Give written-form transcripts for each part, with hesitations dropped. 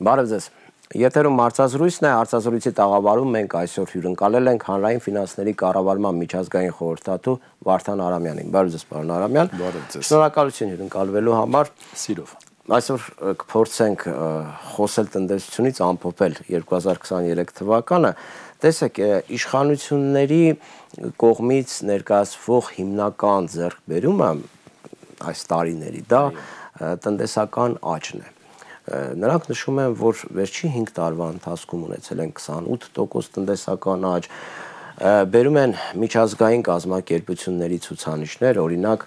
Բարև ձեզ։ Եթերում հարցազրույցն է, հարցազրույցի տաղավարում մենք այսօր հյուրընկալել ենք հանրային ֆինանսների կառավարման միջազգային խորհրդատու Վարդան Արամյանին։ Բարև ձեզ, պարոն Արամյան։ Բարև ձեզ։ Շնորհակալություն հյուրընկալվելու համար։ Սիրով։ Այսօր կփորձենք խոսել տնտեսությունից, ամփոփել 2023 թվականը։ Տեսեք, իշխանությունների կողմից ներկայացվող հիմնական ձեռքբերումը այս տարիների դա տնտեսական աճն է։ Նրանք նշում են, որ վերջի 5 տարվա ընթացքում ունեցել են 28% տնտեսական աճ, բերում են միջազգային կազմակերպությունների ցուցանիշներ, օրինակ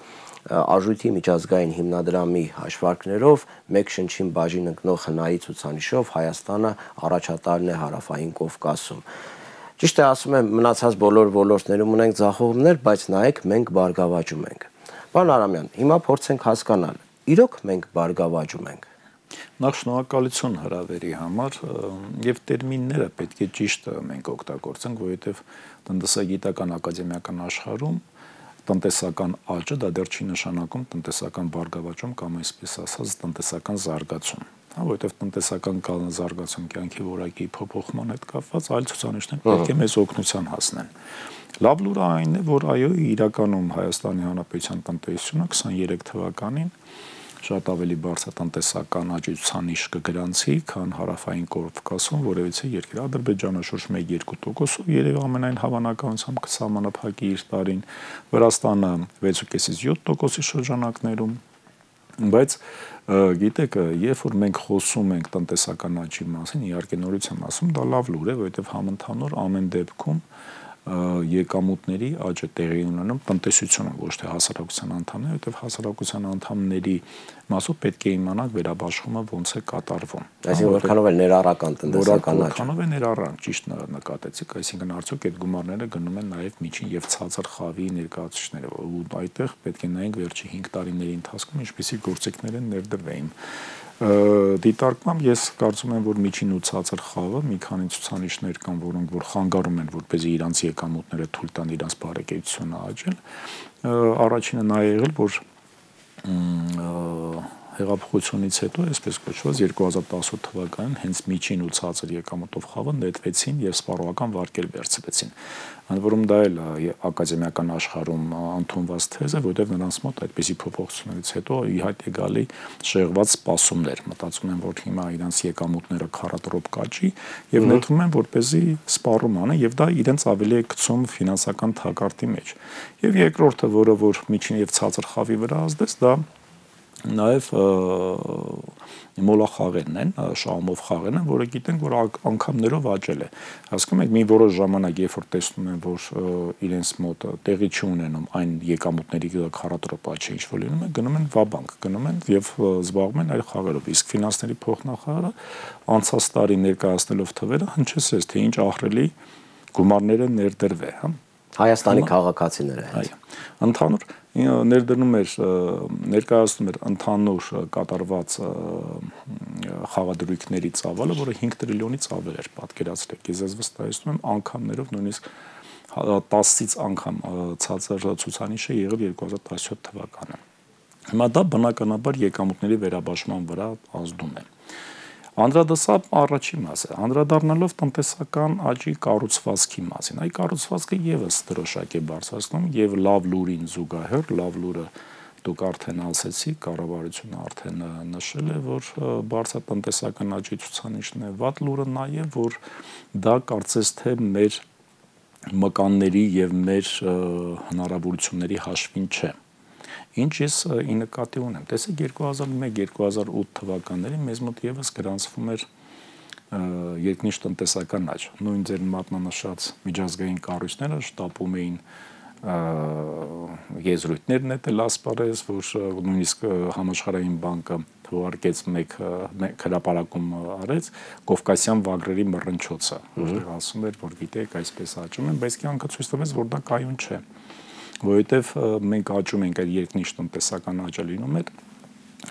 Արժույթի միջազգային հիմնադրամի հաշվարկներով մեկ շնչին բաժին ընկնող հնայի ցուցանիշով Հայաստանը առաջատարն է Հարավային Կովկասում։ Ճիշտ է, ասում եմ, մնացած բոլոր ոլորտներում ունենք ձախողումներ, բայց նայեք, մենք բարգավաճում ենք։ Պարոն Արամյան, հիմա փորձենք հասկանալ, իրոք մենք բարգավաճում ենք։ Նախ շնորհակալություն հրավերի համար եւ տերմինները պետք է ճիշտ մենք օգտագործենք, որովհետեւ տնտեսագիտական ակադեմիական աշխարհում տնտեսական աճը դա դեռ չի նշանակում տնտեսական բարգավաճում կամ այսպես ասած տնտեսական զարգացում, որովհետեւ տնտեսական զարգացում կյանքի որակի փոփոխման հետ կապված այլ ցուցանիշներ պետք է մեզ օգնության հասնեն։ Լավ լուրը այն է, որ այո, իրականում Հայաստանի Հանրապետության տնտեսությունը 23 թվականին շատ ավելի բարձր տնտեսական աճի ցուցանիշ կգրանցի, քան Հարավային Կովկասում, որևիցե երկիր Ադրբեջանը շուրջ 1-2%, երևի ամենայն հավանականությամբ կսահմանափակի իր տարին, Վրաստանը 6.5-ից 7%-ի շրջանակներում, բայց գիտեք, երբ որ մենք խոսում ենք տնտեսական աճի մասին, իհարկե նորից եմ ասում, դա լավ լուր է, որովհետև համընդհանուր ամեն դեպքում եկամուտների աճը տեղի ունենում տնտեսությունը, ոչ թե հասարակության անդամները, որտեղ հասարակության անդամների մասով պետք է իմանանք վերաբաշխումը ոնց է կատարվում։ Այսինքն որքանով է ներառական տնտեսական աճը։ Որքանով է ներառական, ճիշտ նկատեցիք, այսինքն արդյոք այդ գումարները գնում են նաև միջին եւ ցածր խավի ներկայացուցիչները, ու այդտեղ պետք է նայենք վերջի 5 տարիների ընթացքում ինչպիսի գործիքներ են ներդրվեին։ Դիտարկմամբ ես կարծում եմ, որ միջին ու ցածր խավը մի քանի ցուցանիշներ կան, որոնք որ խանգարում են, որպեսզի իրանց եկամուտները թույլ տան իրանց բարեկեցությունը աճել։ Առաջինը նա է եղել, որ հեղափոխությունից հետո, այսպես կոչված 2018 թվականին հենց միջին ու ցածր եկամուտով խավը նետվեցին եւ սպառողական վարկեր վերցրեցին։ Ընդ որում դա էլ ակադեմիական աշխարհում ընդունված թեզ է, որտեղ նրանց մոտ այդպիսի փոփոխություններից հետո ի հայտ է գալի շեղված սպասումներ, մտածում են, որ հիմա իրանց եկամուտները քառատրոպ կաճի եւ նետվում են, որպեսզի սպառում անեն եւ դա իրենց ավելի է գցում ֆինանսական թակարդի մեջ։ Եվ երկրորդը, որը որ միջին եւ ցածր խավի վրա ազդեց, դա նաև մոլախաղերն են, շահումով խաղերն են, որը գիտենք, որ անգամներով աճել է։ Հասկանում եք, մի որոշ ժամանակ, երբ որ տեսնում են, որ իրենց մոտ տեղի չունենում այն եկամուտների քառատրոպ աճը, ինչ որ լինում է, գնում են վաբանկ, գնում են եւ զբաղվում են այլ խաղերով։ Իսկ ֆինանսների փոխնախարարը անցած տարի ներկայացնելով թվերը հնչեցրեց, թե ինչ ահռելի գումարներ են ներդրվել, հա։ Հայաստանի քաղաքացիները հետ։ Այո։ Ընդհանուր ներդնում էր ներկայացնում էր ընդհանուր կատարված խաղադրույքների ծավալը, որը 5 տրիլիոնից ավել էր, պատկերացրեք, ես վստահեցնում եմ անգամներով նույնիսկ 10-ից անգամ ցածր ցուցանիշը եղել 2017 թվականը։ Հիմա դա բնականաբար եկամուտների վերաբաշխման վրա ազդում է։ Անդրադարձավ առաջին մասը, անդրադառնալով տնտեսական աճի կառուցվածքի մասին։ Այդ կառուցվածքը եւս դրոշակ է բարձրացնում եւ լավ լուրին զուգահեռ, լավ լուրը դուք արդեն ասեցիք, կառավարությունը արդեն նշել է, որ բարձր տնտեսական աճի ցուցանիշն է, վատ լուրը նա է, որ դա կարծես թե մեր մկանների եւ մեր հնարավորությունների հաշվին չէ։ Ինչ ես ի նկատի ունեմ, տեսեք 2001-2008 թվականներին մեզ մոտ եւս գրանցվում էր երկնիշ տնտեսական աճ։ Նույն ձեր մատնանշած միջազգային կառույցները շտապում էին եզրույթներ նետել ասպարեզ, որ նույնիսկ համաշխարհային բանկը թվարկեց մեկ հրապարակում արեց Կովկասյան վագրերի մռնչոցը, որտեղ ասում էր, որ գիտեք, այսպես աճում են, բայց կյանքը ցույց տվեց, որ դա կայուն չէ։ Որովհետև մենք աճում ենք այդ երկնիշ տնտեսական աճը լինում է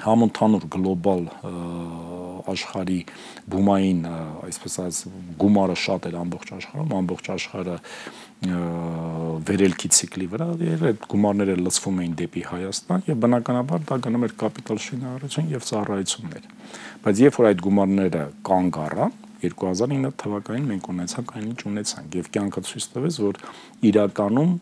համընդհանուր գլոբալ աշխարհի բումային, այսպես ասած, գումարը շատ էր ամբողջ աշխարհում, ամբողջ աշխարհը վերելքի ցիկլի վրա, եւ այդ գումարները լցվում էին դեպի Հայաստան եւ բնականաբար դա գնում էր կապիտալ շինարարություն եւ ծառայություններ։ Բայց երբ որ այդ գումարները կանգ առան 2009 թվականին մենք ունեցանք այնինչ ունեցանք եւ կյանքը ցույց տվեց, որ իրականում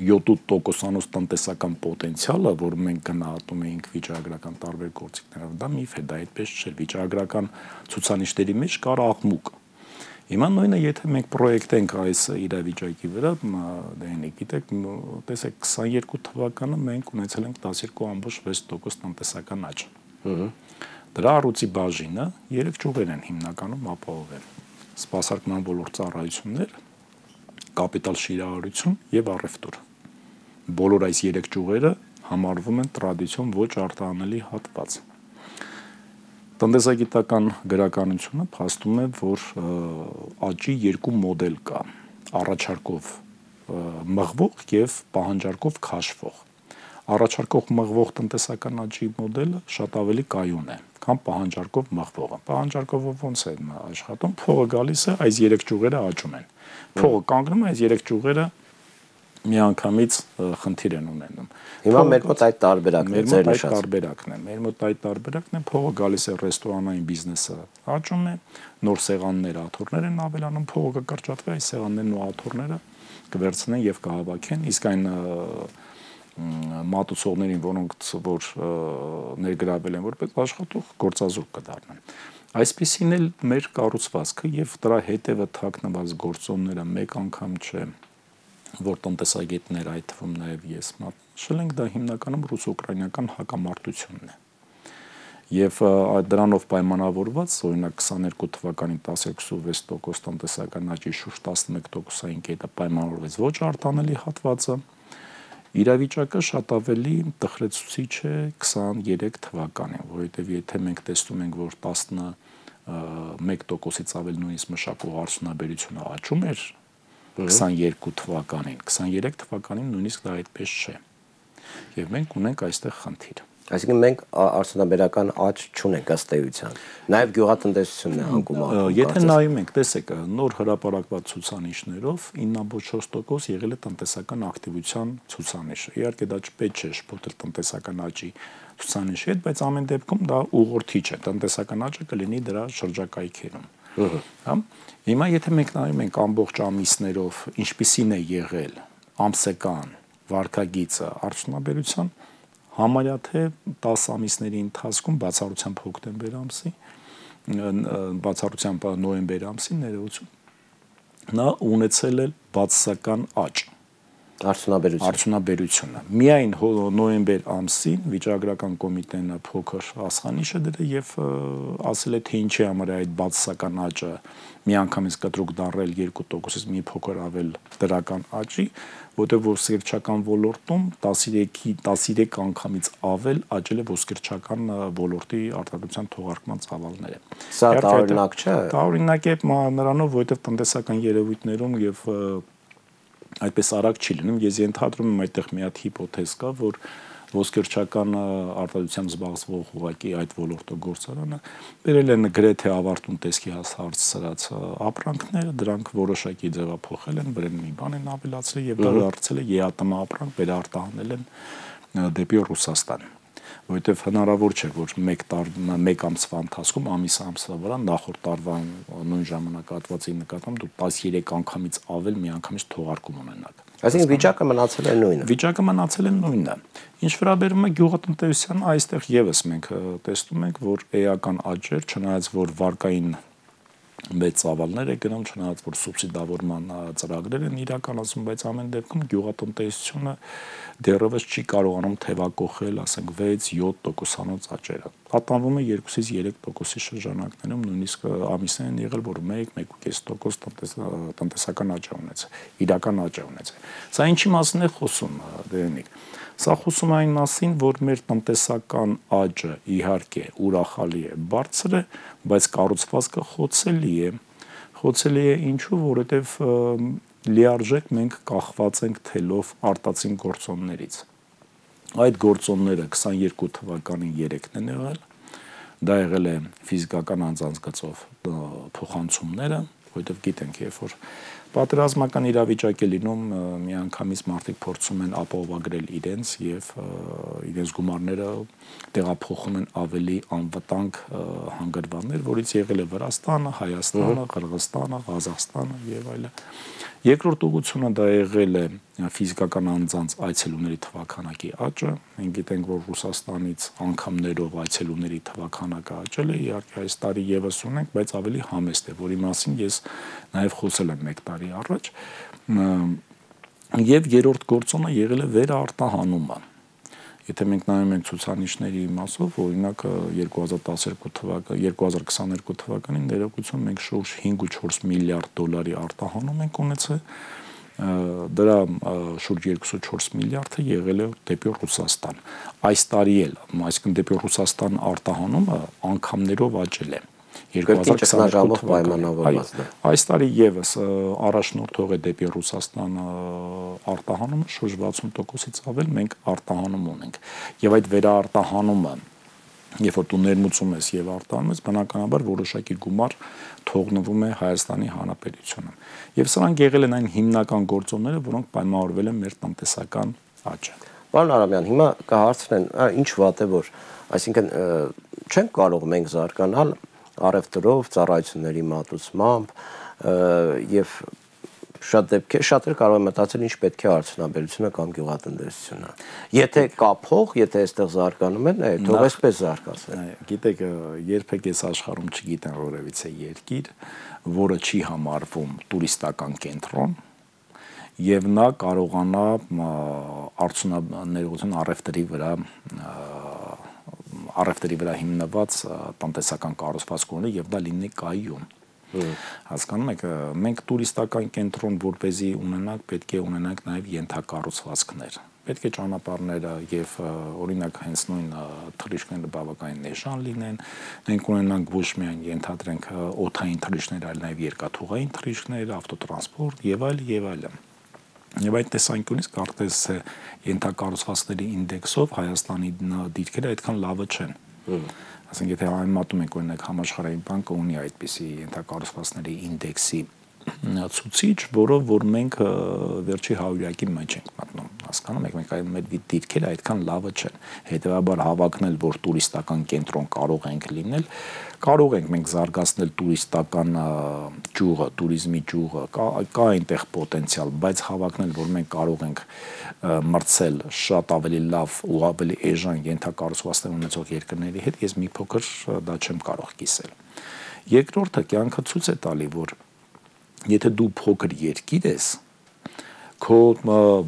7% տնտեսական պոտենցիալը, որ մենք գնահատում էինք վիճակագրական տարբեր գործիքներով, դա միֆ է, դա այդպես չէ, վիճակագրական ցուցանիշների մեջ կար աղմուկ։ Հիմա նույնը, եթե մենք պրոյեկտենք այս իրավիճակի վրա, գիտեք, տեսեք 22 թվականը մենք ունեցել ենք 12.6% տնտեսական աճ։ Դրա առույցի բաժինը 3 ճյուղեր են հիմնականում ապահովել. սպասարկման ոլորտ ծառայություններ, կապիտալ շինարարություն եւ առևտուր։ Բոլոր այս 3 ճյուղերը համարվում են տրադիցիոն ոչ արտահանելի հատված։ Տնտեսագիտական գրականությունը փաստում է, որ աճի երկու մոդել կա՝ առաջարկով մղվող եւ պահանջարկով քաշվող։ Առաջարկող մղվող տնտեսական աճի մոդելը շատ ավելի կայուն է, քան պահանջարկով մղվողը։ Պահանջարկով ոնց է աշխատում, փողը գալիս է, այս 3 ճյուղերը աճում են։ Փողը կանգնում է, այս 3 ճյուղերը միանգամից խնդիր են ունենում։ Հիմա մեր մոտ այդ տարբերակն է, ձեր նշած տարբերակն է։ Մեր մոտ այդ տարբերակն է, փողը գալիս է ռեստորանային բիզնեսը աճում է, նոր սեղաններ, աթոռներ են ավելանում, փողը կկրճատվի, այս սեղաններն ու աթոռները կվերցնեն եւ կհավաքեն, իսկ այն մատուցողներին, որոնք որ ներգրավել են որպես աշխատող, գործազուրկ կդառնան։ Այսպեսին էլ մեր կառուցվածքը եւ դրա հետևը թաքնված գործոնները մեկ անգամ չէ, որ տնտեսագետներ, այդ թվում նաեւ ես մատնաշել ենք, դա հիմնականում ռուս-ուկրաինական հակամարտությունն է։ Եվ դրանով պայմանավորված, օրինակ 22 թվականին 10.26% տնտեսական աճի շուրջ 11%-ային կետը պայմանավորվեց ոչ արտանելի հատվածը, իրավիճակը շատ ավելի տխրեցուցիչ է 23 թվականին, որովհետև եթե մենք տեսնում ենք, որ 11%-ից ավել նույնիսկ մշակող արդյունաբերությունը աճում էր 22 թվականին, 23 թվականին նույնիսկ դա այդպես չէ։ Եվ մենք ունենք այստեղ խնդիր։ Այսինքն մենք արդյունաբերական աճ չունենք ըստ էության։ Նաև գյուղատնտեսությունն է հանգում անում։ Եթե նայում ենք, տեսեք, նոր հրապարակված ցուցանիշներով 9.4% եղել է տնտեսական ակտիվության ցուցանիշը։ Իհարկե դա չպետք չէ շփոթել տնտեսական աճի ցուցանիշի հետ, բայց ամեն դեպքում դա ուղղորդիչ է։ Տնտեսական աճը կլինի դրա շրջակայքերում։ Հա։ Հիմա եթե մենք նայում ենք ամբողջ ամիսներով, ինչպիսին է եղել ամսական վարկագիծը արդյունաբերության, համարյա թե 10 ամիսների ընթացքում բացառությամբ հոկտեմբեր ամսի, բացառությամբ նոյեմբեր ամսի ներողություն, նա ունեցել է բացասական աճ արդյունաբերությունը։ Միայն նոյեմբեր ամսին վիճակագրական կոմիտեն փոքր ասխանիշ է դրել եւ ասել է թե ինչի համար է այդ բացասական աճը միանգամից կտրուկ դարել 2%-ից մի փոքր ավել դրական աճի, որտեղ ոսկերչական ոլորտում 13 անգամից ավել աճել է ոսկերչական ոլորտի արտադրության թողարկման ծավալները։ Սա տարօրինակ չէ։ Տարօրինակ է նրանով, որովհետև տնտեսական երևույթներում եւ այդպես արագ չի լինում։ Ես ենթադրում եմ այդտեղ մի հատ հիպոթեզ կա, որ ոսկերչական արտադրությամբ զբաղվող ուղղակի այդ ոլորտը գործարանը բերել են գրեթե ավարտուն տեսքի հասարած ապրանքները, դրանք որոշակի ձևափոխել են, վրան մի բան են ավելացրել եւ դա դարձել է ԵԱՏՄ ապրանք, վերարտահանել են դեպի Ռուսաստան։ Որովհետև հնարավոր չէ, որ մեկ ամսվա ընթացքում ամսվա վրա նախորդ տարվա նույն ժամանակահատվածի նկատմամբ դու 13 անգամից ավել միանգամից թողարկում ունենաք։ Այսինքն վիճակը մնացել է նույնը։ Վիճակը մնացել է նույնը։ Ինչ վերաբերում է գյուղատնտեսությանը, այստեղ եւս մենք տեսնում ենք, որ էական աճեր, չնայած որ վարկային մեծ ծավալներ է գնում, չնայած որ սուբսիդավորման ծրագրեր են իրականացում, բայց ամեն դեպքում գյուղատնտեսությունը դեռևս չի կարողանում թևակողել, ասենք 6-7% աճերը։ Պատանվում է 2-ից 3%-ի շրջանակներում, նույնիսկ ամիսներ են եղել, որ 1-1.5% տնտեսական աճ ունեցել, իրական աճ ունեցել։ Սա ինչի մասին է խոսում, Դերենիկ։ Սա խոսում է այն մասին, որ մեր տնտեսական աճը իհարկե ուրախալի է, բարձր է, բայց կառուցվածքը խոցելի է։ Խոցելի է ինչու, որովհետև լիարժեք մենք կախված ենք թելով արտածին գործոններից։ Այդ գործոնները 22 թվականին 3-ն են եղել, դա եղել է ֆիզիկական անձանց գծով փոխանցումները, որովհետև գիտենք, երբ որ պատերազմական իրավիճակ է լինում, միանգամից մարդիկ փորձում են ապահովագրել իրենց եւ իրենց գումարները տեղափոխում են ավելի անվտանգ հանգրվաններ, որից եղել է Վրաստանը, Հայաստանը, Qırğızstանը, Ղազախստանը եւ այլն։ Երկրորդ ուղղությունը դա եղել է ֆիզիկական անձանց այցելուների թվաքանակի աճը։ Մենք գիտենք, որ Ռուսաստանից անգամներով այցելուների թվաքանակը աճել է, իհարկե այս տարի եւս ունենք, բայց ավելի համեստ է, որի մասին ես նաեւ խոսել եմ 1 տարի առաջ։ Եվ երրորդ գործոնը եղել է վերարտահանումը։ Եթե մենք նայում ենք ցուցանիշների մասով, օրինակ 2022 թվականին ներողություն մենք շուրջ 5.4 միլիարդ դոլարի արտահանում ենք ունեցել, դրա շուրջ 2.4 միլիարդը եղել է դեպի Ռուսաստան։ Այս տարի էլ, այսինքն դեպի Ռուսաստան արտահանումը անգամներով աճել է։ 2022 պայմանավորված է։ Այս տարի եւս առաջնորդող է դեպի Ռուսաստան արտահանումը շուրջ 60%-ից ավել մենք արտահանում ունենք։ Եվ այդ վերարտահանումը, երբ որ դու ներմուծում ես եւ արտահանում ես, բնականաբար որոշակի գումար թողնվում է Հայաստանի Հանրապետությունում։ Եվ սրանք եղել են այն հիմնական գործոնները, որոնք պայմանավորվել են մեր տնտեսական աճը։ Պարոն Արամյան, հիմա կհարցնեն, ինչ վատ է որ, այսինքն չենք կարող մենք զարգանալ առևտրով, ծառայությունների մատուցմամբ եւ շատերը կարող են մտածել ինչ պետք է արդյունաբերությունը կամ գյուղատնտեսությունը։ Եթե կա փող, եթե այստեղ զարգանում են, թող այսպես զարգացնեն։ Գիտեք, երբեք այս աշխարհում չգիտեն որևիցե երկիր, որը չի համարվում տուրիստական կենտրոն եւ նա կարողանա արդյունաբերության առևտրի վրա հիմնված տնտեսական կառուցվածք ունի եւ դա լինի կայուն։ Հասկանում եք, մենք տուրիստական կենտրոն որպեսզի ունենանք, պետք է ունենանք նաեւ ենթակառուցվածքներ։ Պետք է ճանապարհները եւ օրինակ հենց նույն թռիչքները բավականին էժան լինեն։ Մենք ունենանք ոչ միայն ենթադրենք օդային թռիչքներ, այլ նաեւ երկաթուղային թռիչքներ, ավտոտրանսպորտ եւ այլն։ Եվ այդ տեսանկյունից կարծես ենթակառուցվածքների ինդեքսով Հայաստանի դիրքերը այդքան լավը չեն։ Ասենք եթե համեմատում ենք օրինակ Համաշխարհային բանկը ունի այդպիսի ենթակառուցվածքների ինդեքսի ցուցիչ, որով որ մենք վերջի 100-յակի մեջ ենք մտնում։ Հասկանում եք, մենք մեր դիրքերը այդքան լավը չեն։ Հետևաբար հավակնել, որ տուրիստական կենտրոն կարող ենք լինել, կարող ենք մենք զարգացնել տուրիստական ճյուղը, туриզմի ճյուղը, կա այնտեղ պոտենցիալ, բայց հավակնել, որ մենք կարող ենք մրցել շատ ավելի լավ ու ավելի էժան ենթակառուցվածքներ ունեցող երկրների հետ, ես մի փոքր դա չեմ կարող կիսել։ Երկրորդը կյանքը ցույց է տալի, որ եթե դու փոքր երկիր ես, քո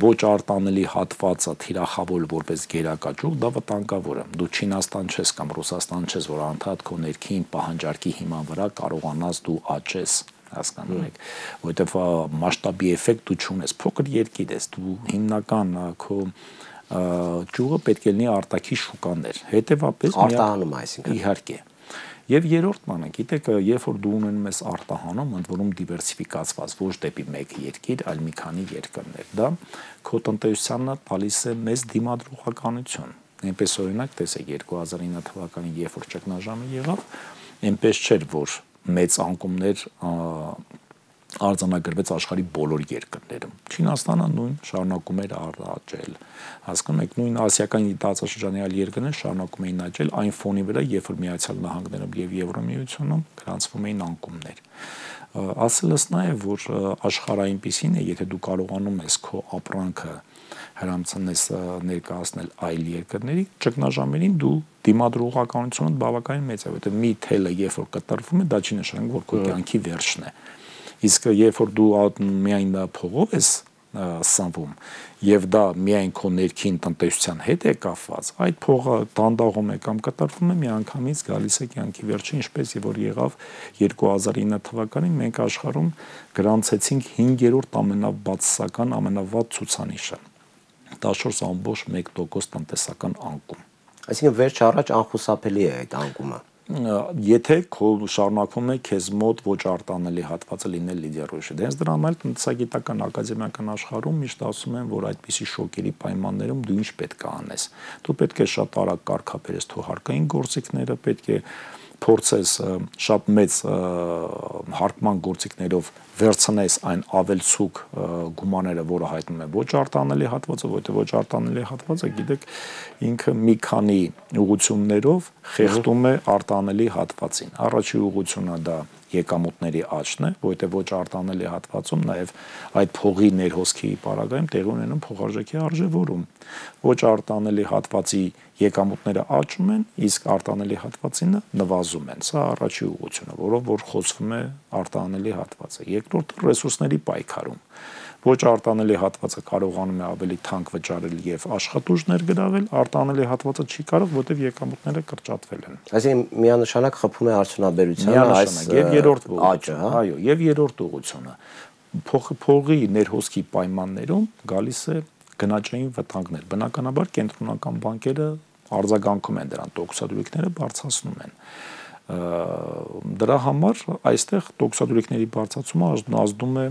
ոչ արտանելի հատվածը թիրախավոր որպես գերակա ճյուղ, դա վտանգավոր է։ Դու Չինաստան չես կամ Ռուսաստան չես, որ անդադ քո ներքին պահանջարկի հիման վրա կարողանաս դու աճես, հասկանում եք, որովհետև մասշտաբի էֆեկտ դու չունես, փոքր երկիր ես, դու հիմնական քո ճյուղը պետք է լինի արտաքին շուկաներ, հետևաբար արտահանում, այսինքն իհարկե։ Եվ երրորդ բանը, գիտեք, երբ որ դու ունենում ես արտահանում, ընդ որում դիվերսիֆիկացված, ոչ դեպի մեկ երկիր, այլ մի քանի երկրներ, դա քո տնտեսությանը տալիս է մեծ դիմադրողականություն։ Այնպես օրինակ, տեսեք 2009 թվականին, երբ որ ճգնաժամը եղավ, այնպես չէր, որ մեծ անկումներ արձանագրվեց աշխարհի բոլոր երկրներում։ Չինաստանը նույն շարունակում էր աճել։ Հասկանում եք, նույն ասիական տարածաշրջանի այլ երկրներ շարունակում էին աճել այն ֆոնի վրա, երբ որ Միացյալ Նահանգներում եւ Եվրամիությունում գրանցվում էին անկումներ։ Ասելս նա է, որ աշխարհը այնպեսին է, եթե դու կարողանում ես քո ապրանքը հրամցնես ներկայացնել այլ երկրների, ճգնաժամերին դու դիմադրողականությունը բավականին մեծ է, որովհետեւ մի թելը երբ որ կտրվում է, դա չի նշանակում, որ քո կյանքի վերջն է։ Իսկ երբ որ դու միայն փողով ես սնվում եւ դա միայն քո ներքին տնտեսության հետ է կապված, այդ փողը դանդաղում է կամ կտրվում է, միանգամից գալիս է կյանքի վերջը, ինչպես եւ որ եղավ 2009 թվականին մենք աշխարհում գրանցեցինք 5-րդ ամենաբացասական, ամենավատ ցուցանիշը 14.1% տնտեսական անկում։ Այսինքն վերջ առաջ անխուսափելի է այդ անկումը։ եթե քո շարունակվում է քեզ մոտ ոչ արտանելի հատվածը լինել լիդերոժը։ Դենց դրա համար տնտեսագիտական ակադեմիական աշխարհում միշտ ասում են, որ այդպիսի շոկերի պայմաններում դու ինչ պետք է անես։ Դու պետք է շատ արագ կարգապահես քո հարկային գործիքները, պետք է փորձես շատ մեծ հարկման գործիքներով վերցնես այն ավելցուկ գումարները, որը հայտնում է ոչ արտանելի հատվածը, որտեղ ոչ արտանելի հատվածը, գիտեք, ինքը մի քանի ուղղություններով խեղդում է արտանելի հատվածին։ Առաջի ուղղությունը դա եկամուտների աճն է, որտեղ ոչ արտանելի հատվածում նաև այդ փողի ներհոսքի պարագայում տեղի ունենում փոխարժեքի արժևորում։ Ոչ արտանելի հատվածի եկամուտները աճում են, իսկ արտանելի հատվածինը նվազում են։ Սա առաջի ուղղությունը, որով որ խոսվում է արտանելի հատվածը։ Երկրորդը ռեսուրսների պայքարում։ Ոչ արտանելի հատվածը կարողանում է ավելի թանկ վճարել եւ աշխատուժ ներգրավել, արտանելի հատվածը չի կարող, որտեղ եկամուտները կրճատվել են։ Այսինքն միանշանակ խփում է արդյունաբերությունը այս եւ երրորդ աճը, հա։ Այո, եւ երրորդ ուղղությունը։ Փողի ներհոսքի պայմաններում գալիս է գնաճային վտանգներ։ Բնականաբար կենտրոնական բանկերը արձագանքում են դրան, տոկոսադրույքները բարձրացնում են։ Դրա համար այստեղ տոկոսադրույքների բարձրացումը ազդում է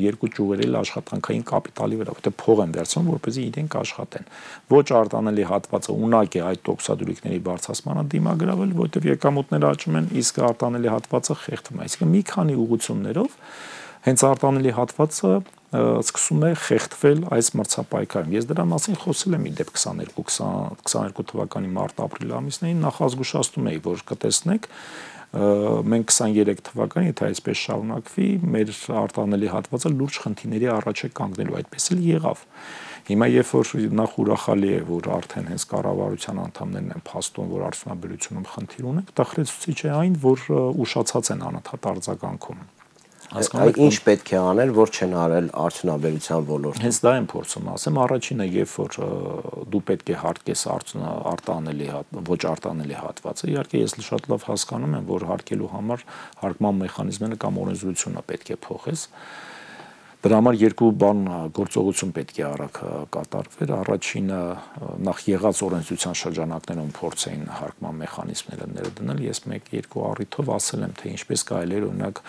երկու ճյուղերի աշխատանքային կապիտալի վրա, որտեղ փող են վերցնում, որպեսզի իրենք աշխատեն։ Ոչ արտանելի հատվածը ունակ է այդ տոկոսադրույքների բարձրացմանը դիմագրավել, որտեղ եկամուտները աճում են, իսկ արտանելի հատվածը խեղդվում է։ Այսինքն մի քանի ուղղություններով հենց արտանելի հատվածը սկսում է խեղդվել այս մրցապայքարում։ Ես դրա մասին խոսել եմ իդեպ 22 թվականի մարտ-ապրիլ ամիսներին, նախազգուշացնում էի, որ կտեսնեք, մենք 23 թվականին, եթե այսպես շարունակվի, մեր արտանելի հատվածը լուրջ խնդիրների առաջ է կանգնելու, այդպես էլ եղավ։ Հիմա երբ որ նախ ուրախալի է, որ արդեն հենց կառավարության անդամներն են փաստում, որ արդյունաբերությունում խնդիր ունենք, տխրեցուցիչ է այն, որ ուշացած են անընդհատ արձագանքում։ Ինչ պետք է անել, որ չեն արել արդյունաբերության ոլորտում։ Հենց դա եմ փորձում ասեմ, առաջինը, երբ որ դու պետք է հարկես արտանելի ոչ արտանելի հատվածը, իհարկե ես շատ լավ հասկանում եմ, որ հարկելու համար հարկման մեխանիզմները կամ օրենսդրությունը պետք է փոխես։ Դրա համար երկու բան գործողություն պետք է արագ կատարվեր։ Առաջինը նախ եղած օրենսդրության շրջանակներում փորձեին հարկման մեխանիզմները ներդնել։ Ես 1-2 առիթով ասել եմ, թե ինչպես կարելի է օրինակ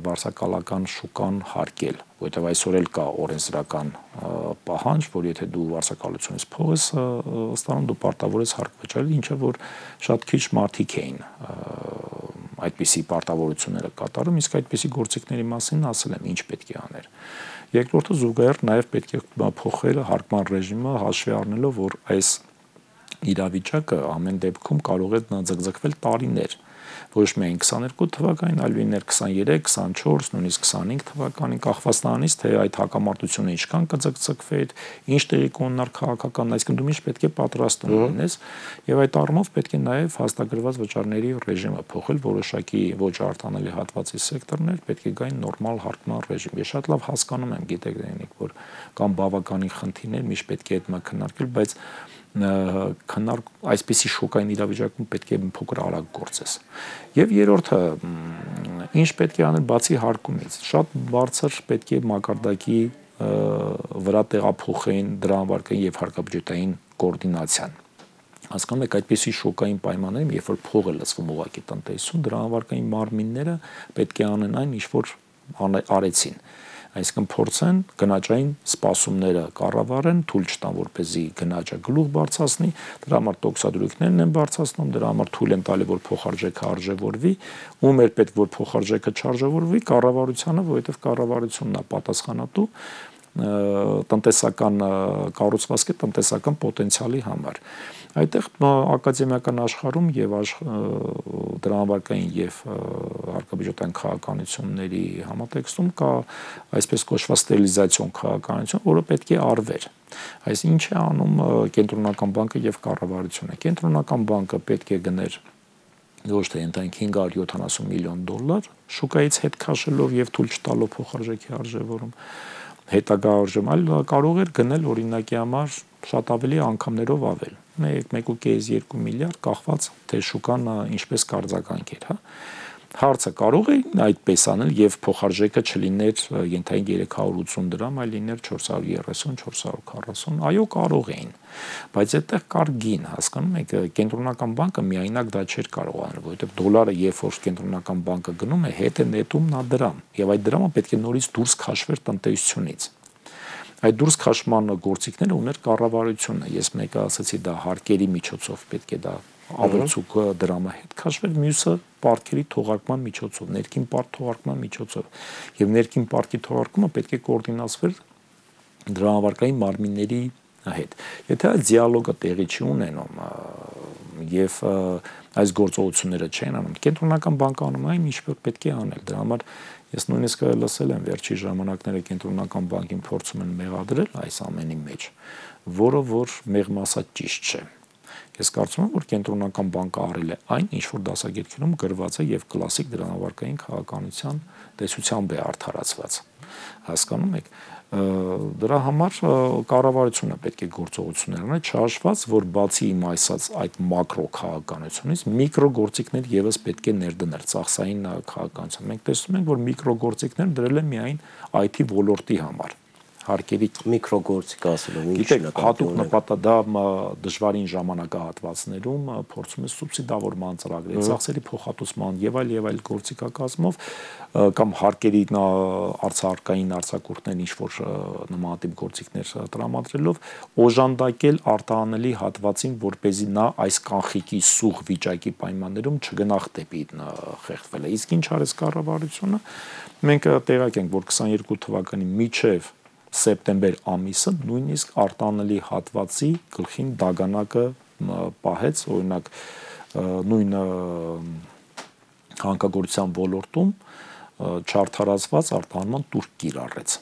վարձակալական շուկան հարկել, որովհետև այսօր էլ կա օրենսդրական պահանջ, որ եթե դու վարձակալությունից փող ես ստանում, դու պարտավոր ես հարկ վճարել, ինչը որ շատ քիչ մարդիկ էին այդպիսի պարտավորությունները կատարում, իսկ այդպիսի գործիքների մասին ասել եմ, ինչ պետք է աներ։ Երկրորդը զուգահեռ նաև պետք է փոխել հարկման ռեժիմը, հաշվի առնելով, որ այս իրավիճակը ամեն դեպքում կարող է ձգձգվել տարիներ, ոչ միայն 22 թվականին, այլ լիներ 23, 24, նույնիսկ 25 թվականին, կախված նրանից, թե այդ հակամարտությունը ինչքան կձգձգվի, ինչ տեղի կունենար քաղաքական, այսինքն դու միշտ պետք է պատրաստում լինես, եւ այդ առումով պետք է նաեւ հաստատագրված վճարների ռեժիմը փոխել, որոշակի ոչ արտանելի հատվածի սեկտորներ պետք է գային նորմալ հարկման ռեժիմ։ Ես շատ լավ հասկանում եմ, գիտեք, որ կամ բավականին խնդիրներ, միշտ պետք է այդ մը քննարկել, բայց այսպիսի շոկային իրավիճակում պետք է փոքր արագ գործես։ Եվ երրորդը, ինչ պետք է անել բացի հարկումից, շատ բարձր պետք է մակարդակի վրա տեղափոխեն դրամավարկային եւ հարկաբյուջետային կոորդինացիան։ Հասկանում եք, այդպիսի շոկային պայմաններում, երբ որ փող է լցվում ուղղակի տնտեսություն, դրամավարկային մարմինները պետք է անեն այն, ինչ որ արեցին։ Այսինքն փորձեն գնաճային սպասումները կառավարեն, թույլ չտան, որպեսզի գնաճը գլուխ բարձրացնի, դրա համար տոկոսադրույքներն են բարձրացնում, դրա համար թույլ են տալի, որ փոխարժեքը արժևորվի, ում էր պետք որ փոխարժեքը չարժևորվի, կառավարությանը, որովհետև կառավարությունն է պատասխանատու տնտեսական կառուցվածքի տնտեսական պոտենցիալի համար։ Այդտեղ ակադեմիական աշխարհում եւ դրամավարկային եւ հարկաբյուջետային քաղաքականությունների համատեքստում կա այսպես կոչված ստերիլիզացիոն քաղաքականություն, որը պետք է արվեր։ Այս ինչ է անում կենտրոնական բանկը եւ կառավարությունը։ Կենտրոնական բանկը պետք է գներ ոչ թե ընդհանուր 570 միլիոն դոլար շուկայից հետ քաշելով եւ թույլ չտալով փոխարժեքի արժևորում հետագա արժեմ, այլ կարող էր գնել օրինակի համար շատ ավելի անգամներով ավել։ 1.5-2 միլիարդ կախված թե շուկան ինչպես կարձագանքեր, հա։ Հարցը կարող է այդպես անել եւ փոխարժեքը չլիներ ենթային 380 դրամ, այլ լիներ 430, 440, այո, կարող էին, բայց այդտեղ կար գին, հասկանում եք, կենտրոնական բանկը միայնակ դա չէր կարող անել, որովհետեւ դոլարը երբ որ կենտրոնական բանկը գնում է, հետ է նետում նա դրամ, եւ այդ դրամը պետք է նորից դուրս քաշվեր տնտեսությունից։ Այդ դուրս քաշման գործիքները ուներ կառավարությունը, ես մեկը ասացի դա հարկերի միջոցով պետք է դա ավելցուկ դրամը հետ քաշվեր, մյուսը պարտքերի թողարկման միջոցով, ներքին պարտ թողարկման միջոցով, եւ ներքին պարտքի թողարկումը պետք է կոորդինացվեր դրամավարկային մարմինների հետ։ Եթե այդ դիալոգը տեղի չի ունենում եւ այս գործողությունները չեն անում, կենտրոնական բանկը անում այն ինչ որ պետք է անել, դրա համար ես նույնիսկ լսել եմ վերջի ժամանակները կենտրոնական բանկին փորձում են մեղադրել այս ամենի մեջ, որը որ մեղմասած ճիշտ չէ։ Ես կարծում եմ, որ կենտրոնական բանկը արել է այն, ինչ որ դասակարգերում գրված է եւ կլասիկ դրամավարկային քաղաքականության տեսությամբ է արդարացված։ Հասկանում եք, դրա համար կառավարությունը պետք է գործողություններ անել, չհաշված, որ բացի իմ այսած այդ մակրո քաղաքականությունից միկրո գործիքներ եւս պետք է ներդնել ծախսային քաղաքականության։ Մենք տեսնում ենք, որ միկրո գործիքներ դրել են միայն IT ոլորտի համար։ Հարկերի միկրոգործիկ ասելով ինչ նկատի հատուկ նպատակ դա դժվարին ժամանակահատվածներում փորձում է սուբսիդավորման ծրագրեր, ծախսերի փոխհատուցման եւ այլ գործիքակազմով կամ հարկերի արցարկային արձակուրդներ ինչ որ նմանատիպ գործիքներ տրամադրելով օժանդակել արտահանելի հատվածին, որպեսզի նա այս կանխիկի սուղ վիճակի պայմաններում չգնահ դեպի խեղդվել։ Իսկ ինչ արեց կառավարությունը, մենք տեղյակ ենք, որ 22 թվականի միջև սեպտեմբեր ամիսը նույնիսկ արտանելի հատվածի գլխին դագանակը պահեց, օրինակ նույն հանքագործության ոլորտում չարդարացված արտահանման տուրք կիրառեց։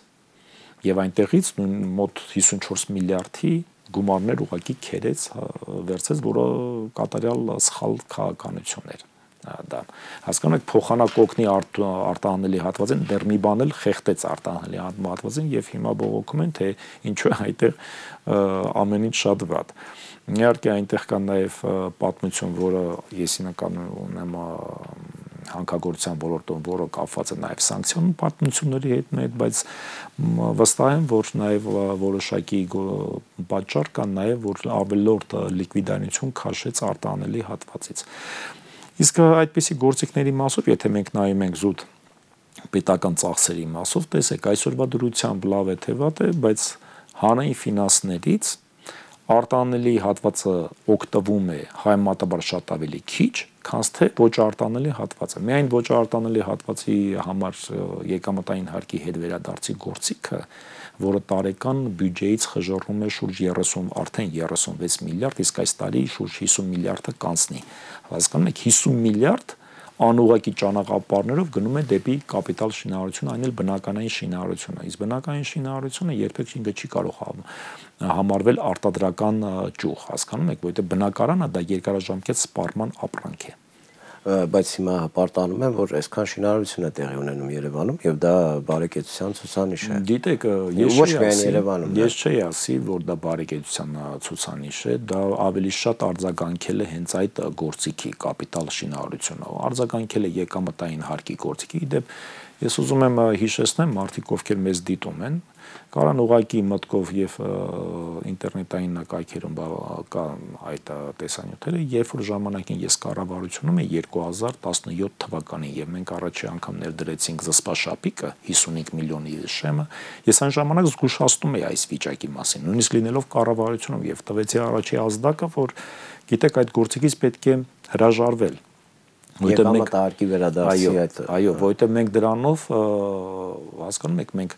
Եվ այնտեղից նույն մոտ 54 միլիարդի գումարներ ուղղակի քերեց, վերցեց, որը կատարյալ սխալ քաղաքականություն էր։ Դա հասկանում եք փոխանակօգնի արտահանելի հատվածին դեռ մի բան էլ խեղդեց արտահանելի հատվածին եւ հիմա բողոքում են թե ինչու է այդտեղ ամեն ինչ շատ վատ։ Իհարկե այնտեղ կա նաեւ պատմություն, որը ես հիմնականում ունեմ հանքագործության ոլորտում, որը կապված է նաեւ սանկցիոն պատմությունների հետ, բայց վստահ եմ, որ նաեւ որոշակի պատճառ կա նաեւ, որ ավելորդ լիկվիդայնություն քաշեց արտահանելի հատվածից։ Իսկ այդպիսի գործիքների մասով, եթե մենք նայում ենք զուտ պետական ծախսերի մասով, տեսեք, այսօրվա դրությամբ լավ է թե վատ է, բայց հանրային ֆինանսներից արտանելի հատվածը օգտվում է համեմատաբար շատ ավելի քիչ, քան թե ոչ արտանելի հատվածը։ Միայն ոչ արտանելի հատվածի համար եկամտային հարկի հետ վերադարձի գործիքը, որը տարեկան բյուջեից խժռում է շուրջ 30, արդեն 36 միլիարդ, իսկ այս տարի շուրջ 50 միլիարդը կանցնի։ Հասկանում եք, 50 միլիարդ անուղղակի ճանապարհներով գնում է դեպի կապիտալ շինարարություն, այն էլ բնականային շինարարությունը։ Իսկ բնականային շինարարությունը երբեք ինքը չի կարող համարվել արտադրական ճյուղ, հասկանում եք, որովհետև բնակարանը դա երկարաժամկետ սպառման ապրանք է։ Բայց հիմա պարտանում եմ, որ այսքան շինարարություն է տեղի ունենում Երևանում եւ դա բարեկեցության ցուցանիշ է։ Գիտեք, ես չէի ասի, որ դա բարեկեցության ցուցանիշ է, դա ավելի շատ արձագանքել է հենց այդ գործիքի կապիտալ շինարարությունը, արձագանքել է եկամտային հարկի գործիքի։ Իդեպ ես ուզում եմ հիշեցնեմ մարդիկ, ովքեր մեզ դիտում են, կարան ուղակի մտքով եւ ինտերնետային կայքերում այդ տեսանյութերը, երբ որ ժամանակին ես կառավարությունում եմ 2017 թվականին եւ մենք առաջի անգամ ներդրեցինք զսպաշապիկը 55 միլիոնի շեմը, ես այն ժամանակ զգուշացնում էի այս վիճակի մասին, նույնիսկ լինելով կառավարությունում եւ տվեցի առաջի ազդակը, որ գիտեք այդ գործիքից պետք է հրաժարվել։ Եկամտահարկի վերադարձի այդ այո, որովհետև մենք դրանով հասկանում եք, մենք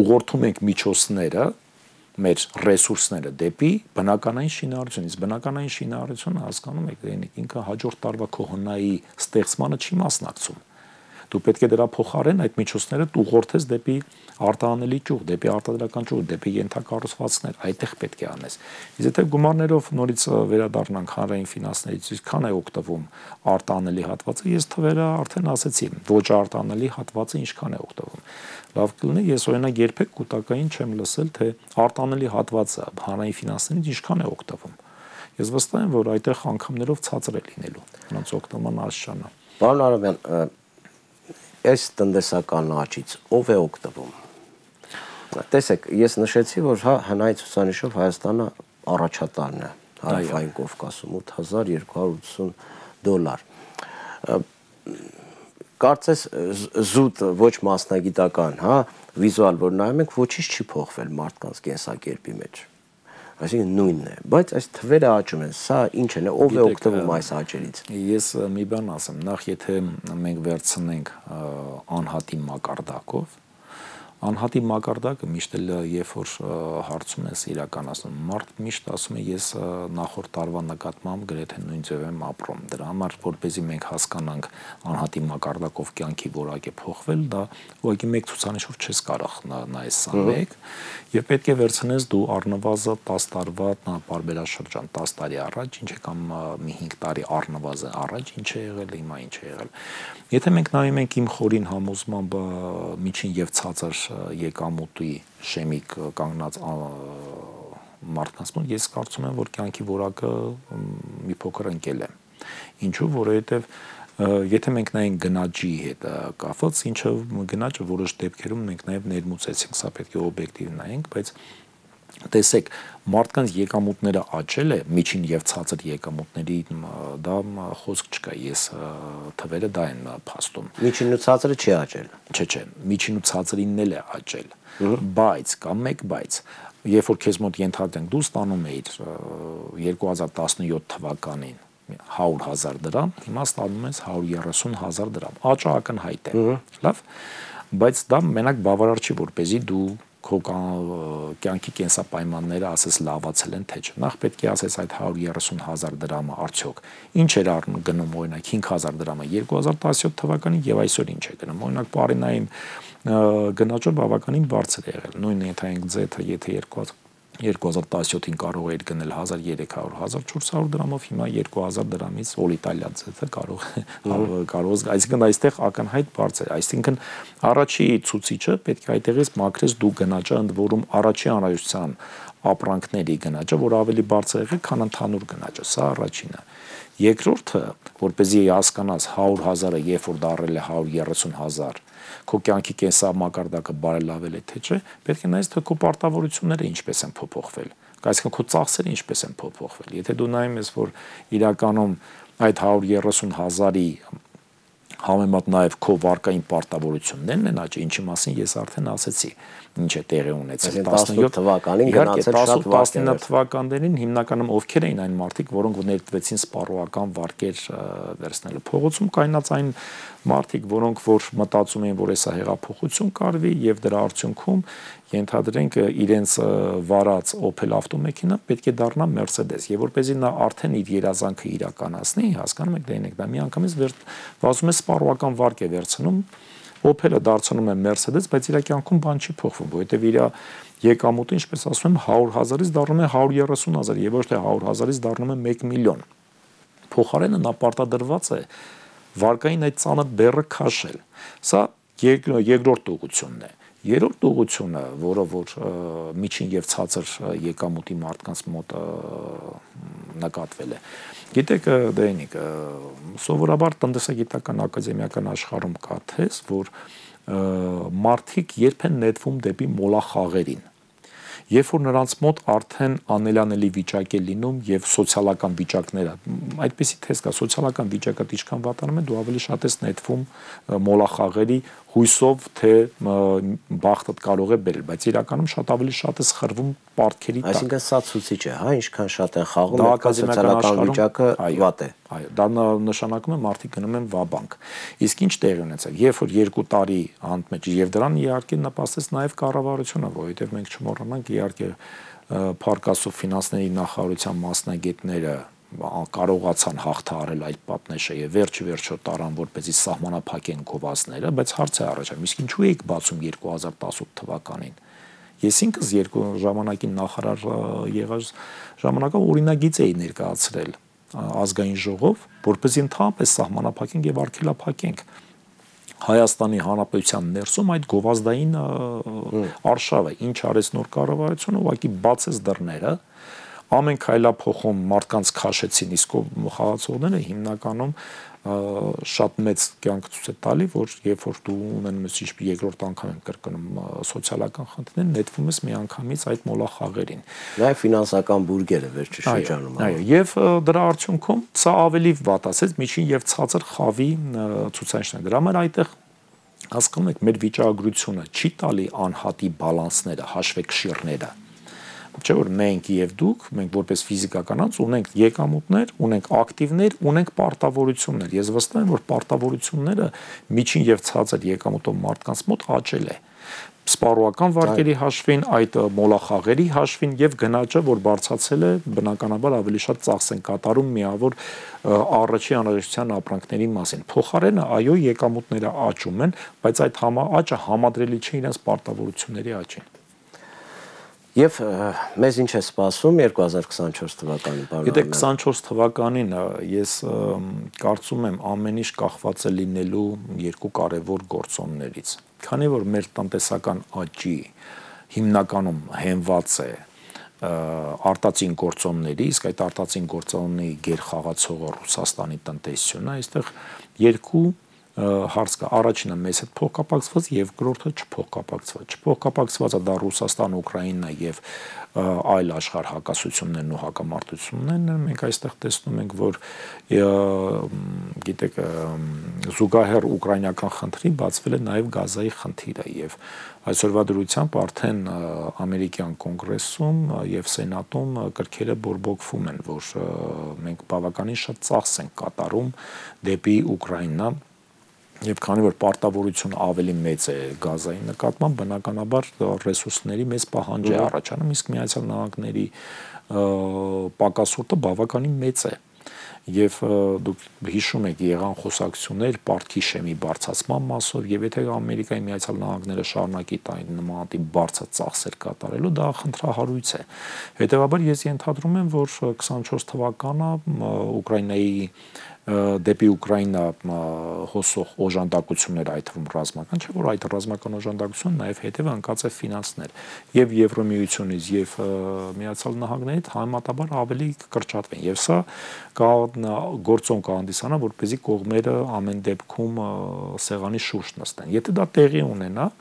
ուղղորդում ենք միջոցները, մեր ռեսուրսները դեպի բնականային շինարարություն, իսկ բնականային շինարարությունը հասկանում եք, ինքը հաջորդ տարվա քողնայի ստեղծմանը չի մասնակցում։ Դու պետք է դրա փոխարեն այդ միջոցները ուղղորդես դեպի արտահանելի ճյուղ, դեպի արտադրական ճյուղ, դեպի ենթակառուցվածքներ, այդտեղ պետք է անես։ Իսկ եթե գումարներով նորից վերադառնանք հանրային ֆինանսներից, ինչքան է օգտվում արտահանելի հատվածը, ես թվերը արդեն ասեցի, ոչ արտահանելի հատվածը ինչքան է օգտվում։ Լավ կլինի, ես օրինակ երբեք կൂട്ടակային չեմ լսել, թե արտահանելի հատվածը հանրային ֆինանսներից ինչքան է օգտվում։ Ես վստահ եմ, որ այդտեղ անգամներով ցածր է լինելու, նրանց օգտման աստիճանը։ Պարոն Արամյան, այս տնտեսական աճից ով է օգտվում։ Տեսեք, ես նշեցի, որ հնայի ցուցանիշով Հայաստանը առաջատարն է Հարավային Կովկասում, $8280։ Կարծես զուտ ոչ մասնագիտական, վիզուալ որ նայում ենք, ոչինչ չի փոխվել մարդկանց կենսակերպի մեջ։ Այսինքն նույնն է, բայց այս թվերը աճում են, սա ինչ է, ով է օգտվում այս աճերից։ Ես մի բան ասեմ, նախ եթե մենք վերցնենք անհատի մակարդակով, անհատի մակարդակը միշտ էլ երբ որ հարցում ես իրականացնում, մարդ միշտ ասում է ես նախորդ տարվա նկատմամբ գրեթե նույն ձև եմ ապրում։ Դրա համար որպեսզի մենք հասկանանք անհատի մակարդակով կյանքի որակ է փոխվել, դա ուղղակի մեկ ցուցանիշով չես կարող նայես 21 եւ պետք է վերցնես դու առնվազն 10 տարվա պարբերաշրջան 10 տարի առաջ, ինչ է կամ մի 5 տարի առնվազն առաջ ինչ է եղել, հիմա ինչ է եղել։ Եթե մենք նայում ենք իմ խորին համոզմամբ միջին եւ ցածր եկամուտի շեմիկ կանգնած մարդկանց մոտ ես կարծում եմ որ կյանքի որակը մի փոքր ընկել է։ Ինչու, որովհետեւ եթե մենք նայենք գնաճի հետ կապված, ինչը գնաճը որոշ դեպքերում մենք նաեւ ներմուծեցինք, սա պետք է օբյեկտիվ նայենք, բայց տեսեք, մարդկանց եկամուտները աճել է, միջին եւ ցածր եկամուտների դա խոսք չկա, ես թվերը դա են փաստում։ Միջին ու ցածրը չի աճել։ Չէ, միջին ու ցածրինն էլ է աճել։ Բայց կամ մեկ բայց երբ որ քեզ մոտ ենթադրենք դու ստանում էիր 2017 թվականին 100,000 դրամ, հիմա ստանում ես 130,000 դրամ։ Աճը ակնհայտ է։ Լավ, բայց դա մենակ բավարար չի, որպեսզի դու քո կյանքի կենսապայմանները ասես լավացել են թե չէ։ Նախ պետք է ասես այդ 130,000 դրամը արդյոք ինչ էր գնում օրինակ 5,000 դրամը 2017 թվականին եւ այսօր ինչ է գնում։ Օրինակ պարենային գնաճը բավականին բարձր է եղել։ Նույն ենթային ձեթը եթե 2017-ին կարող էր գնել 1300-1400 դրամով, հիմա 2000 դրամից օլիտալիա ձեթը կարող այսինքն այստեղ ակնհայտ բարձր է, այսինքն առաջի ցուցիչը պետք է այդտեղից մաքրես դու գնաճը, ընդ որում առաջի անհրաժեշտության ապրանքների գնաճը, որ ավելի բարձր եղել, քան ընդհանուր գնաճը, սա առաջինը։ Երկրորդը, որպեսզի հասկանաս 100,000-ը երբ որ դառել է 130,000, քո կյանքի կենսամակարդակը բարելավել է թե չէ, պետք է նայես թե քո պարտավորությունները ինչպես են փոփոխվել, այսինքն քո ծախսերը ինչպես են փոփոխվել։ Եթե դու նայում ես, որ իրականում այդ 130,000-ի համեմատ նաև քո վարկային պարտավորություններն են աճել, ինչի մասին ես արդեն ասեցի, ինչ է տեղի ունեցել 17 թվականին գնացել շատ վատ 19 թվականներին հիմնականում ովքեր էին այն մարդիկ, որոնք ներդվեցին սպառողական վարկեր վերցնելու փողոցում կայնած այն մարդիկ, որոնք որ մտածում էին, որ հեսա հեղափոխություն կարվի եւ դրա արդյունքում ենթադրենք իրենց վարած Opel ավտոմեքենա պետք է դառնա Mercedes եւ որպեսզի նա արդեն իր երազանքը իրականացնի, հասկանում եք, դե դա միանգամից վազում է սպառողական վարկ է վերցնում Opel-ը դարձնում է Mercedes, բայց իր կյանքում բան չի փոխվում, որովհետեւ իր եկամուտը, ինչպես ասում եմ, 100,000-ից դառնում է 130,000 եւ ոչ թե 100,000-ից դառնում է 1 միլիոն։ Փոխարենը նա պարտադրված է վարկային այդ ծանր բեռը քաշել։ Սա երկրորդ ուղղությունն է։ Երրորդ ուղղությունը, որը որ միջին եւ ցածր եկամուտի մարդկանց մոտ նկատվել է։ Գիտեք, Դենիկ, սովորաբար տնտեսագիտական ակադեմիական աշխարհում կա թեզ, որ մարդիկ երբ են նետվում դեպի մոլախաղերին, երբ որ նրանց մոտ արդեն անելանելի վիճակ է լինում եւ սոցիալական վիճակները, այդպեսի թեզ կա, սոցիալական վիճակը ինչքան վատանում է, դու ավելի շատ ես նետվում մոլախաղերի հույսով, թե բախտդ կարող է բերել, բայց իրականում շատ ավելի շատ է սխրվում պարտքերի տակ։ Այսինքն սա ցուցիչ է, ինչքան շատ են խաղում, այնքան սոցիալական վիճակը վատ է։ Այո, դա նշանակում է մարդիկ գնում են վաբանկ։ Իսկ ինչ տեղի ունեցավ, երբ որ 2 տարի անընդմեջ եւ դրան իհարկե նպաստեց նաեւ կառավարությունը, որովհետեւ մենք չմոռանանք իհարկե Փարկասով ֆինանսների նախարարության մասնագետները կարողացան հաղթահարել այդ պատնեշը եւ վերջը տարան որպեսզի սահմանափակեն գովազդները, բայց հարց է առաջանում, իսկ ինչու եք բացում 2018 թվականին։ Ես ինքս երկու ժամանակին նախարար եղած ժամանակով օրինագիծ էի ներկայացրել ազգային ժողով, որպեսզի ընդհանրապես սահմանափակենք եւ արգելափակենք Հայաստանի Հանրապետության ներսում այդ գովազդային արշավը, ինչ արեց նոր կառավարությունը, ուղղակի բացեց դռները, ամեն քայլափոխում մարդկանց քաշեցին, իսկ խաղացողները հիմնականում շատ մեծ կյանք ցույց է տալի, որ երբ որ դու ունենում ես երկրորդ անգամ եմ կրկնում սոցիալական խնդիրներ, նետվում ես միանգամից այդ մոլախաղերին։ Նաև ֆինանսական բուրգերը վերջի շրջանում։ Այո, եւ դրա արդյունքում սա ավելի վատ ասեց միջին եւ ցածր խավի ցուցանիշն է։ Դրա համար այդտեղ հասկանում եք, մեր վիճակագրությունը չի տալի անհատի բալանսները, հաշվեկշիռները։ Չէ՞ որ մենք եւ դուք, մենք որպես ֆիզիկական անձ ունենք եկամուտներ, ունենք ակտիվներ, ունենք պարտավորություններ։ Ես վստահ եմ, որ պարտավորությունները միջին եւ ցածր եկամուտով մարդկանց մոտ աճել է։ Սպառողական վարկերի հաշվին, այդ մոլախաղերի հաշվին եւ գնաճը, որ բարձրացել է, բնականաբար ավելի շատ ծախս են կատարում միավոր առաջի անհրաժեշտության ապրանքների մասին։ Փոխարենը, այո, եկամուտները աճում են, բայց այդ աճը համադրելի չէ իրենց պարտավորությունների աճին։ Եվ մեզ ինչ է սպասում 2024 թվականին, պարոն։ Գիտեք, 24 թվականին ես կարծում եմ ամեն ինչ կախված է լինելու երկու կարևոր գործոններից։ Քանի որ մեր տնտեսական աճի հիմնականում հենված է արտածին գործոնների, իսկ այդ արտածին գործոնների գերխաղացողը Ռուսաստանի տնտեսությունն է, այստեղ երկու հարց կա։ Առաջինը մեզ հետ փոխկապակցված, երկրորդը չփոխկապակցված։ Չփոխկապակցվածը դա Ռուսաստան, Ուկրաինա եւ այլ աշխարհ հակասություններն ու հակամարտություններն են։ Մենք այստեղ տեսնում ենք, որ գիտեք, զուգահեռ ուկրաինական խնդրի բացվել է նաեւ գազայի խնդիրը եւ այսօրվա դրությամբ արդեն ամերիկյան կոնգրեսում եւ սենատում կրքերը բորբոքվում են, որ մենք բավականին շատ ծախս ենք կատարում դեպի Ուկրաինա։ Եվ քանի որ պարտավորությունը ավելի մեծ է գազային նկատմամբ, բնականաբար ռեսուրսների մեծ պահանջ է առաջանում, իսկ Միացյալ Նահանգների պակասորտը բավականին մեծ է։ Եվ դուք հիշում եք եղան խոսակցություններ պարտքի շեմի բարձրացման մասով, եւ եթե Ամերիկայի Միացյալ Նահանգները շարունակի տային նմանատիպ բարձր ծախսեր կատարելու, դա խնդրահարույց է։ Հետևաբար ես ենթադրում եմ, որ 24 թվականը Ուկրաինայի դեպի Ուկրաինա հոսող օժանդակությունները, այդ թվում ռազմական, չէ՞ որ այդ ռազմական օժանդակությունը նաև հետևը ընկած է ֆինանսներ եւ Եվրոմիությունից եւ Միացյալ Նահանգներից համեմատաբար ավելի կրճատվեն եւ սա գործոն կհանդիսանա, որպեսզի կողմերը ամեն դեպքում սեղանի շուրջ նստեն։ Եթե դա տեղի ունենա,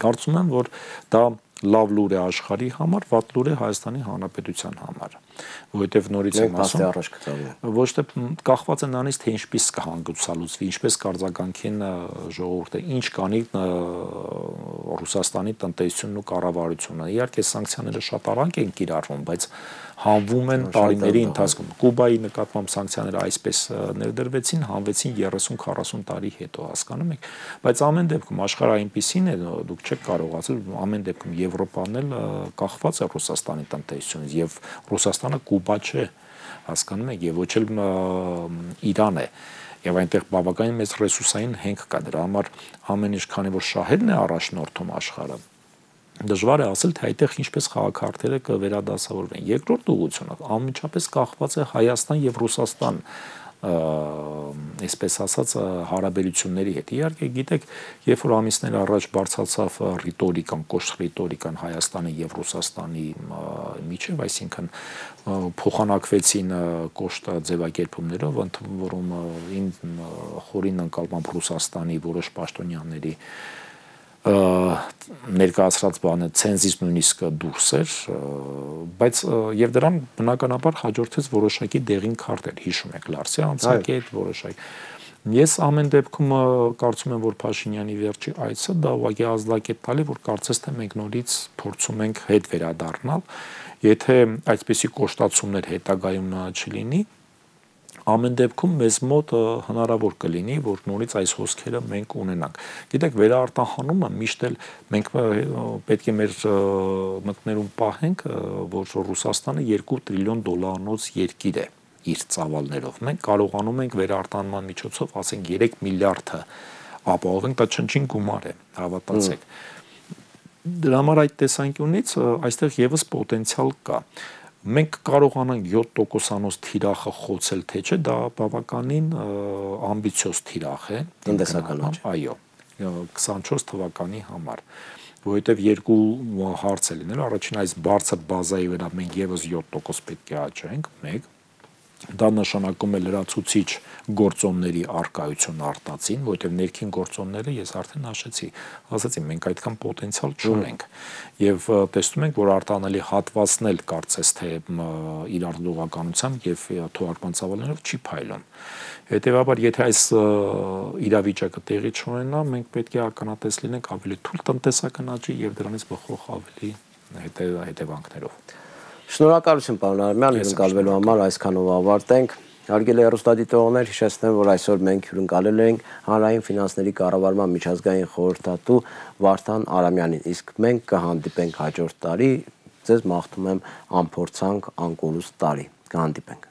կարծում եմ, որ դա լավ լուր է աշխարհի համար, վատ լուր է Հայաստանի Հանրապետության համար, որովհետև նորից եմ ասում, ոչ թե կախված է նրանից, թե ինչպես կհանգուցալուծվի, ինչպես կարձագանքեն ժողովուրդը, ինչ կանի Ռուսաստանի տնտեսությունն ու կառավարությունը։ Իհարկե սանկցիաները շատ արագ են կիրառվում, բայց հանվում են տարիների ընթացքում։ Կուբայի նկատմամբ սանկցիաները այսպես ներդրվեցին, հանվեցին 30-40 տարի հետո, հասկանում եք, բայց ամեն դեպքում աշխարհը այնպեսին է, դուք չեք կարող ասել, ամեն դեպքում Եվրոպան էլ կախված է Ռուսաստանի տնտեսությունից եւ Ռուսաստանը Կուբա չէ, հասկանում եք, եւ ոչ էլ Իրան է։ Եվ այնտեղ բավականին մեծ ռեսուրսային հենք կա, դրա համար ամեն ինչ, քանի որ շահերն է առաջնորդում աշխարհը, դժվար է ասել, թե այդտեղ ինչպես խաղաքարտերը կվերադասավորվեն։ Երկրորդ ուղղությունը անմիջապես կախված է Հայաստան եւ Ռուսաստան, այսպես ասած, հարաբերությունների հետ։ Իհարկե, գիտեք, երբ որ ամիսներ առաջ բարձրացավ ռիտորիկան, կոշտ ռիտորիկան Հայաստանի եւ Ռուսաստանի միջև, այսինքն փոխանակվեցին կոշտ ձևակերպումներով, որում խորին ընկալմամբ Ռուսաստանի որոշ պաշտոնյաների ներկայացրած բանը ցենզից նույնիսկ դուրս էր, բայց եւ դրան բնականաբար հաջորդեց որոշակի դեղին քարտեր, հիշում եք Լարսի անցակետ որոշակի։ Ես ամեն դեպքում կարծում եմ, որ Փաշինյանի վերջի այցը դա ուղղակի ազդակետ տալի, որ կարծես թե մենք նորից փորձում ենք հետ վերադառնալ, եթե այսպիսի կոշտացումներ հետագայում չլինի, ամեն դեպքում մեզ մոտ հնարավոր կլինի, որ նորից այս հոսքերը մենք ունենանք։ Գիտեք, վերարտահանումը միշտ էլ մենք պետք է մեր մտներում պահենք, որ Ռուսաստանը 2 տրիլիոն դոլարանոց երկիր է իր ծավալներով։ Մենք կարողանում ենք վերարտահանման միջոցով, ասենք 3 միլիարդը ապահովենք, դա չնչին գումար է, հավատացեք։ Դրա համար այդ տեսանկյունից այստեղ եւս պոտենցիալ կա։ Մենք կարողանանք 7%-անոց թիրախը խոցել, թե չէ, դա բավականին ամբիցիոզ թիրախ է տնտեսական աճ։ Այո, 24 թվականի համար, որովհետև երկու հարց է լինել, առաջին այս բարձր բազայի վրա մենք եւս 7% պետք է աճենք, մեկ, Դա նշանակում է լրացուցիչ գործոնների արկայություն արտածին, որովհետև ներքին գործոնները ես արդեն ասացի, մենք այդքան պոտենցիալ չունենք։ Եվ տեսնում ենք, որ արտանելի հատվածն էլ կարծես թե իր արտադրողականությամբ եւ թողարկման ծավալներով չի փայլում։ Հետևաբար, եթե այս իրավիճակը տեղի չունենա, մենք պետք է ականատես լինենք ավելի թույլ տնտեսական աճի եւ դրանից բխող ավելի հետևանքներով։ Շնորհակալություն, պարոն Արամյան, հյուրընկալվելու համար այսքանով ավարտենք։ Հարգելի հեռուստադիտողներ, հիշեցնեմ, որ այսօր մենք հյուրընկալել ենք հանրային ֆինանսների կառավարման միջազգային խորհրդատու Վարդան Արամյանին, իսկ մենք կհանդիպենք հաջորդ տարի, ձեզ մաղթում եմ անփորձանք, անկորուստ տարի, կհանդիպենք։